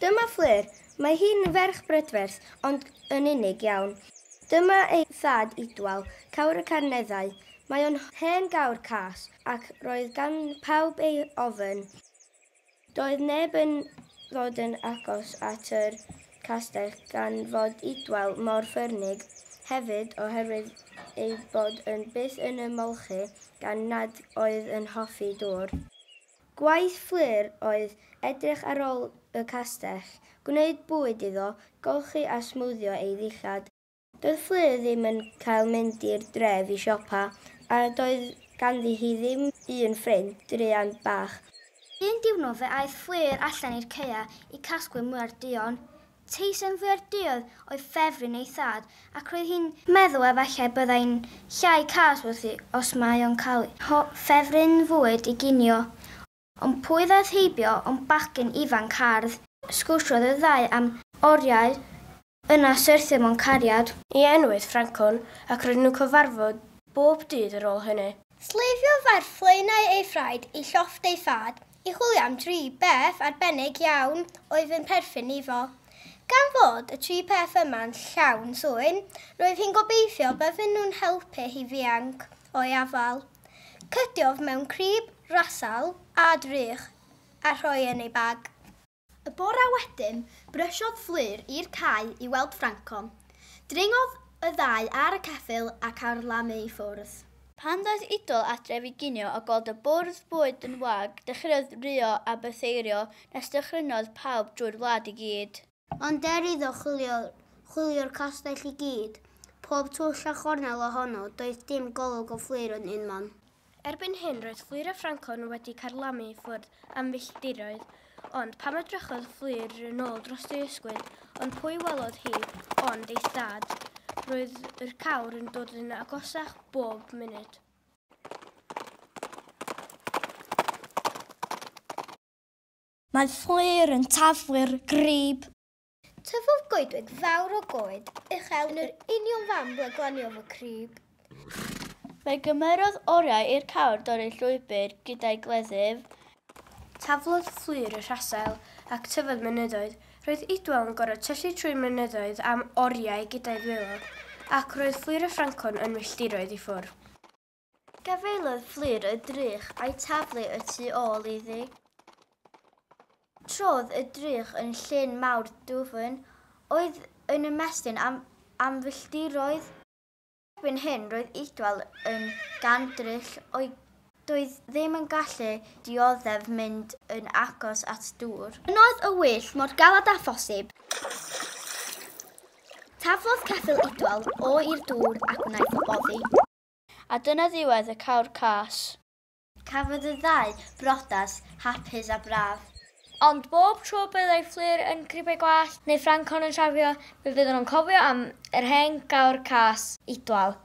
Dyma Fflur. Mae hi'n ferch brydferth, ond yn unig iawn. Dyma ei thad Idwal, cawr y Carneddau. Mae o'n hen gawr cas, ac roedd gan pawb ei ofn. Doedd neb yn ddod yn agos at yr castell gan fod Idwal mor ffyrnig, hefyd oherwydd ei bod yn byth yn ymolchi gan nad oedd yn hoffi dŵr. Gwaith Fflur oedd edrych ar ôl y castell, gwneud bwyd iddo, golchi a smwddio ei ddillad. Doedd Fflur ddim yn cael mynd i'r dref i siopa, a doedd ganddi hi ddim un ffrind, druan bach. Un diwrnod fe aeth Fflur allan i'r caeau i casglu mwyar duon. Teisen fwyar duodd oedd ffefryn ei thad, ac roedd hi'n meddwl efallai byddai'n llai cas wrthi os mae o'n cael ffefryn fwyd i ginio. Ond pwy ddaeth heibio ond bachgen ifanc hardd. Sgwrsiodd y ddau am oriau, yna syrthio mewn cariad. Ei enw oedd Ffrancon, ac roedden nhw'n cyfarfod bob dydd ar ôl hynny. Sleifiodd ar flaenau ei thraed i llofft ei thad i chwilio am dri beth arbennig iawn oedd yn perthyn iddo. Gan fod y tri peth yma'n llawn swyn, roedd hi'n gobeithio bydden nhw'n helpu hi ddianc o'i afael. Cydiodd mewn crib, rasal a drych a rhoi yn ei bag. Y bore wedyn, brysiodd Fflur i'r cae i weld Ffrancon. Dringodd y ddau ar y ceffyl ac ar lamu i ffwrdd. Pan ddaeth Idwal adref i ginio a gweld y bwrdd bwyd yn wag, dechreuodd ruo a bytheirio nes dychrynodd pawb drwy'r wlad i gyd. Ond er iddo chwilio'r castell i gyd, pob twll a chornel ohono, doedd dim golwg o Fflur yn unman. Erbyn hyn roedd Fflur a Ffrancon wedi carlamu i ffwrdd am filltiroedd, ond pam edrychodd Fflur yn ôl dros ei ysgwydd, ond pwy welodd hi ond ei thad. Roedd yr cawr yn dod yn agosach bob munud. Mae Fflur yn taflu'r grib. Tyfodd goedwig fawr o goed uchel yn yr union fan ble glaniodd y crib. Fe gymerodd oriau i'r cawr dorri llwybr gyda'i gleddyf. Taflodd Fflur y rhasel ac tyfodd mynyddoedd. Roedd Idwal yn gorfod tyllu trwy'r mynyddoedd am oriau gyda'i ddwylo, ac roedd Fflur a Ffrancon yn milltiroedd i ffwrdd. Gafaelodd Fflur y drych a'i taflu y tu ôl iddi. Trodd y drych yn llyn mawr dwfn, oedd yn ymestyn am filltiroedd. Erbyn hyn roedd Idwal yn gandryll o'i doedd ddim yn gallu dioddef mynd yn agos at dŵr. Ynoedd y wyll mor galed â phosib. Taflodd ceffyl Idwal o i'r dŵr ac wnaeth o boddi. A dyna ddiwedd y cawr cas. Cafodd y ddau brodas hapus a braf. Ond bob tro byddai Fflur yn cribau gwallt neu Ffrancon yn siafio, fe fydden nhw'n cofio am yr hen gawr cas Idwal.